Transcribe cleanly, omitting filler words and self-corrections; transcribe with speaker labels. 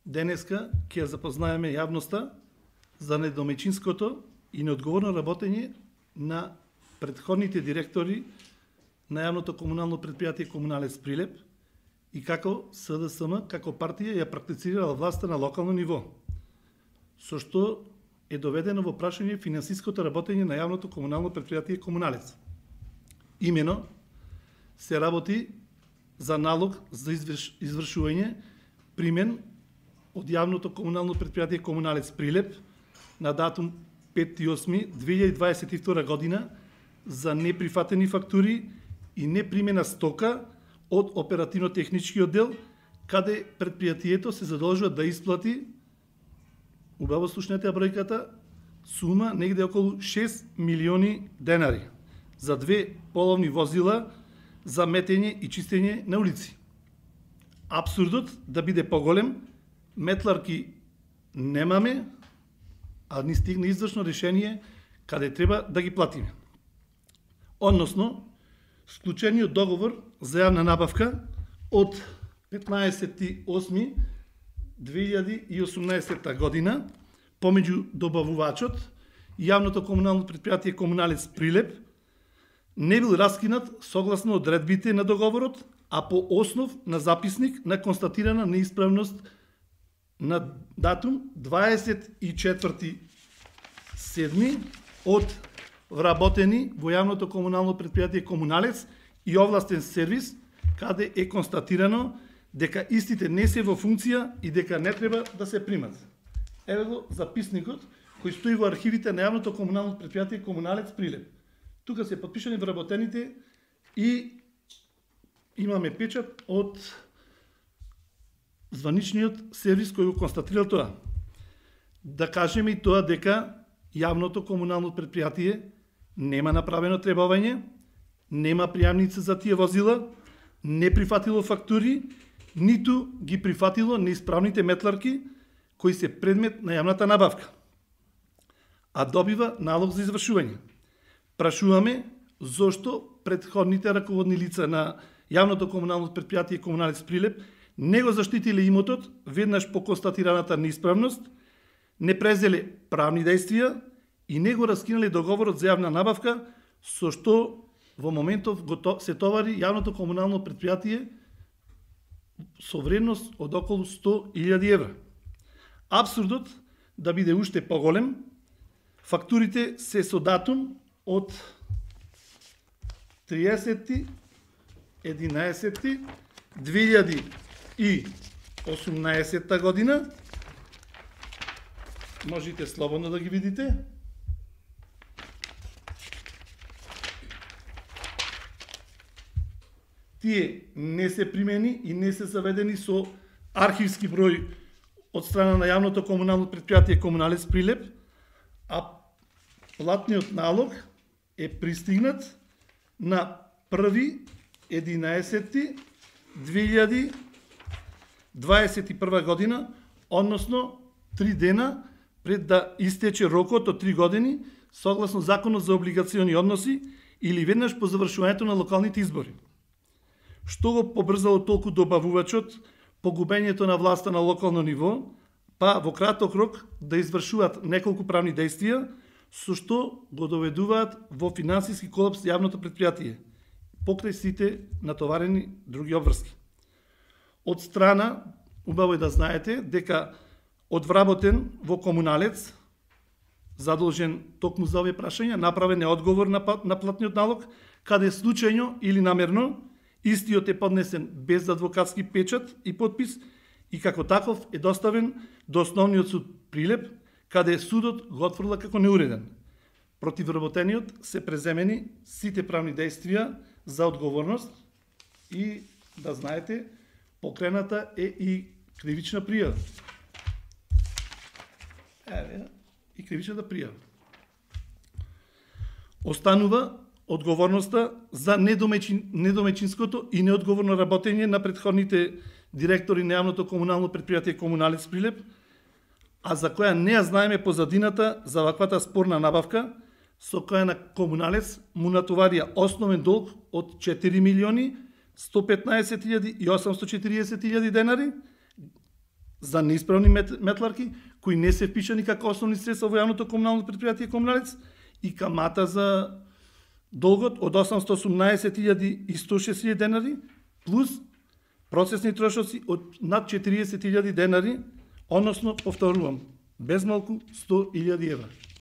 Speaker 1: Денеска ќе ја запознаеме јавноста за недомечинското и неодговорно работење на претходните директори на јавното комунално предпријатие Комуналец Прилеп и како СДСМ, како партија ја практицирала власта на локално ниво, со што е доведено во прашање финансиското работење на јавното комунално предпријатие Комуналец. Имено се работи за налог за извршување примен од јавното комунално предпријатие Комуналец Прилеп на датум 5.8.2022 година за неприфатени фактури и непримена стока од оперативно-технички оддел, каде предпријатието се задолжува да исплати, убаво слушнете бројката, сума негде околу 6 милиони денари за 2 половни возила за метење и чистење на улици. Апсурдот да биде поголем, метларки немаме, а ни стигна извршно решение каде треба да ги платиме. Односно, склучениот договор за јавна набавка од 15.8.2018 година помеѓу добавувачот и јавното комунално предпријатие Комуналец Прилеп не бил раскинат согласно одредбите на договорот, а по основ на записник на констатирана неисправност на датум 24.7. од вработени во јавното комунално предпријатие Комуналец и овластен сервис, каде е констатирано дека истите не се во функција и дека не треба да се примат. Еве го записникот кој стои во архивите на јавното комунално предпријатие Комуналец Прилеп. Тука се подпишани вработените и имаме печат од званичниот сервис кој го констатирал тоа. Да кажеме и тоа дека јавното комунално предпријатие нема направено требување, нема пријамници за тие возила, не прифатило фактури, ниту ги прифатило неисправните метларки кои се предмет на јавната набавка, а добива налог за извршување. Прашуваме зошто претходните раководни лица на јавното комунално предпријатие Комуналец Прилеп не го заштитиле имотот веднаш по констатираната неисправност, не презеле правни действија и не го раскинале договорот за јавна набавка, со што во моментов се товари јавното комунално предпријатие со вредност од околу 100.000 евра. Апсурдот да биде уште поголем, фактурите се со датум од 30.11.2018 година. Можете слободно да ги видите. Тие не се примени и не се заведени со архивски број од страна на јавното комунално предпријатие Комуналец Прилеп, а платниот налог е пристигнат на 1.11.2021 година, односно 3 дена пред да истече рокот од 3 години, согласно Законот за облигациони односи или веднаш по завршувањето на локалните избори. Што го побрзало толку добавувачот погубењето на власта на локално ниво, па во краток рок да извршуваат неколку правни действија, со што го доведуваат во финансиски колапс јавното предпријатие, покрај сите натоварени други обврски. Од страна, убаво е да знаете, дека одвработен во Комуналец, задолжен токму за овие прашања, направен е одговор на платниот налог, каде случајно или намерно истиот е поднесен без адвокатски печат и подпис и како таков е доставен до Основниот суд Прилеп, каде судот го отфрла како неуреден. Против вработениот се преземени сите правни действија за одговорност и, да знаете, покрената е и кривична пријава. И кривичната пријава. Останува одговорноста за недомечинското и неодговорно работење на претходните директори на јавното комунално предпријатие Комуналец Прилеп, а за која не ја знаеме позадината за ваквата спорна набавка, со која на Комуналец му натоварија основен долг од 4.115.840.000 денари, за неисправни метларки кои не се впишани како основни средства во јавното комунално претпријатие Комуналец и камата за долгот од 818.106 денари плюс процесни трошоци од над 40.000 денари, односно, повторувам, без малку 100.000 евра.